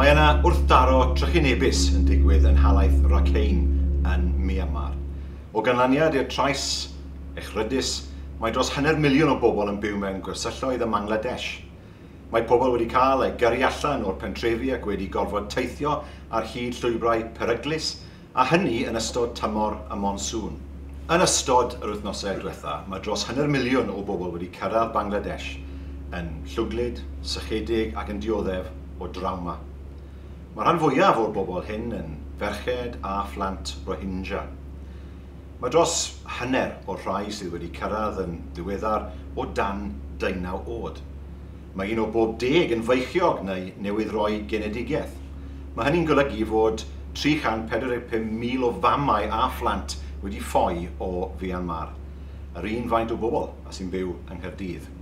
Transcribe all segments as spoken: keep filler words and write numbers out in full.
Mae yna wrthdaro trychinebus yn digwydd yn nhalaith Rakhine yn Myanmar. O ganlyniad i'r trais echrydus, mae dros hanner miliwn o bobl yn byw mewn gwersylloedd ym Mangladesh. Mae pobl wedi cael eu gyrru allan o'r pentrefi ac wedi gorfod teithio ar hyd llwybrau peryglus, a hynny yn ystod tymor y monsŵn. Yn ystod yr wythnosau diwetha, mae dros hanner miliwn o bobl wedi cyrraedd Bangladesh yn llwglyd, sychedig ac yn dioddef o drawma. Mae rhan fwyaf o'r bobl hyn yn ferched a phlant Rohingya. Mae dros hanner o'r rhai sydd wedi cyrraedd yn ddiweddar o dan deunaw oed. Mae un o bob deg yn feichiog neu newydd roi genedigaeth. Mae hynny'n golygu fod tri chant pedwar deg pump mil o famau a phlant wedi ffoi o Myanmar, yr un faint o bobl a sy'n byw yng Nghaerdydd.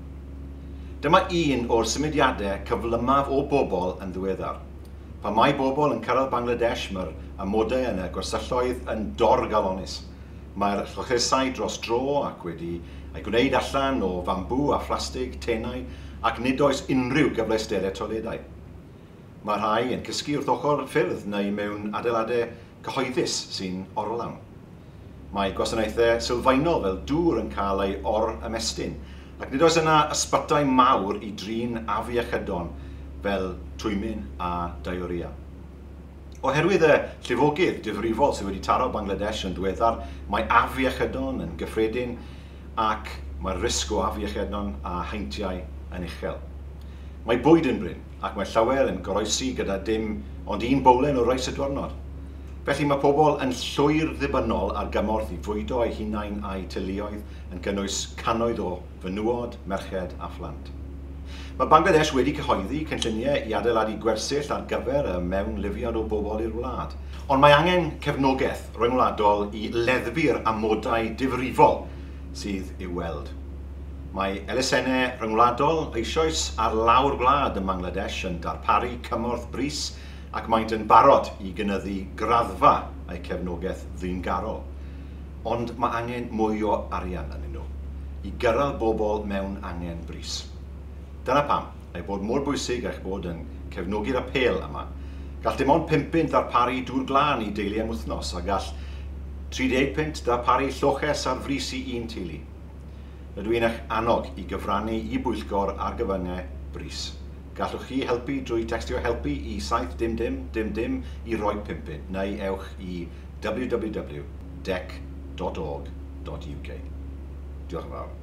Dyma un o'r symudiadau cyflymaf o bobl yn ddiweddar. Pan mae bobl yn cyrraedd Bangladesh, mae'r amodau yn y gwersylloedd yn dorgalonus. Mae'r llochesau dros dro ac wedi eu gwneud allan o fambŵ a phlastig tenau ac nid oes unrhyw gyfleusterau toiledau. Mae rhai yn cysgu wrth ochr ffyrdd neu mewn adeiladau cyhoeddus sy'n orlawn. Mae gwasanaethau sylfaenol fel dŵr yn cael ei or-ymestyn ac nid oes yna ysbytai mawr i drin afiechydon fel twymyn a diarrhea. Oherwydd y llifogydd difrifol sydd wedi taro Bangladesh yn ddiweddar, mae afiechydon yn gyffredin ac mae'r risg o afiechydon a heintiau yn uchel. Mae bwyd yn brin ac mae llawer yn goroesi gyda dim ond un bowlen o reis y diwrnod. Felly mae pobl yn llwyr ddibynnol ar gymorth i fwydo eu hunain a'u teuluoedd yn cynnwys cannoedd o fenywod, merched a phlant. Mae Bangladesh wedi cyhoeddi cynlluniau i adeiladu gwersyll ar gyfer y mewnlifiad o bobl i'r wlad. Ond mae angen cefnogaeth ryngwladol i leddfu'r amodau difrifol sydd i'w weld. Mae elusennau rhyngwladol eisoes ar lawr gwlad ym Mangladesh yn darparu cymorth brys ac maent yn barod i gynyddu graddfa eu cefnogaeth ddyngarol. Ond mae angen mwy o arian arnyn nhw i gyrraedd bobl mewn angen brys. Dyna pam ei bod mor bwysig eich bod yn cefnogi'r apêl yma. Gall dim ond pump punt ddarparu dŵr glân i deulu am wythnos a gall tri deg punt ddarparu lloches ar frys i un teulu. Rydw i'n eich annog i gyfrannu i bwyllgor ar gyfyngau brys. Gallwch chi helpu drwy tecstio helpu i saith dim dim dim dim i roi pump punt neu ewch i w w w dot dec dot org dot u k. Diolch yn fawr.